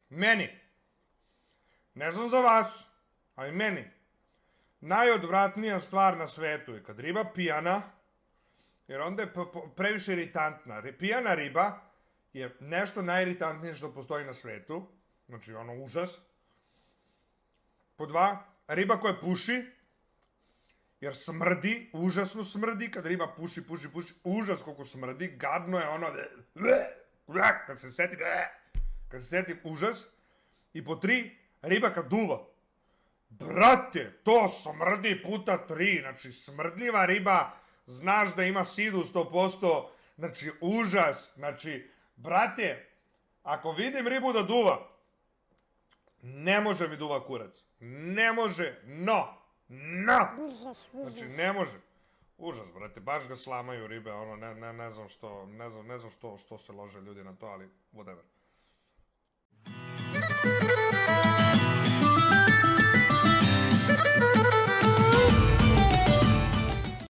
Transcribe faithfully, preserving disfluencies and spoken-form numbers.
Meni, ne znam za vas, ali meni, najodvratnija stvar na svetu je kad riba pijana, jer onda je previše iritantna. Pijana riba je nešto najiritantnije što postoji na svetu, znači ono užas. Po dva, riba koja puši, jer smrdi, užasno smrdi, kad riba puši, puši, puši, užas koliko smrdi, gadno je ono, kad se setim, kad se setim, užas. I po tri, riba kad duva. Brate, to smrdi puta tri, znači smrdljiva riba, znaš da ima sidu sto posto, znači užas, znači, brate, ako vidim ribu da duva, ne može mi duva kurac, ne može, no, no, znači ne može, užas, brate, baš ga slamaju ribe, ono, ne, ne, ne znam što, ne znam, ne znam što, što se lože ljudi na to, ali whatever.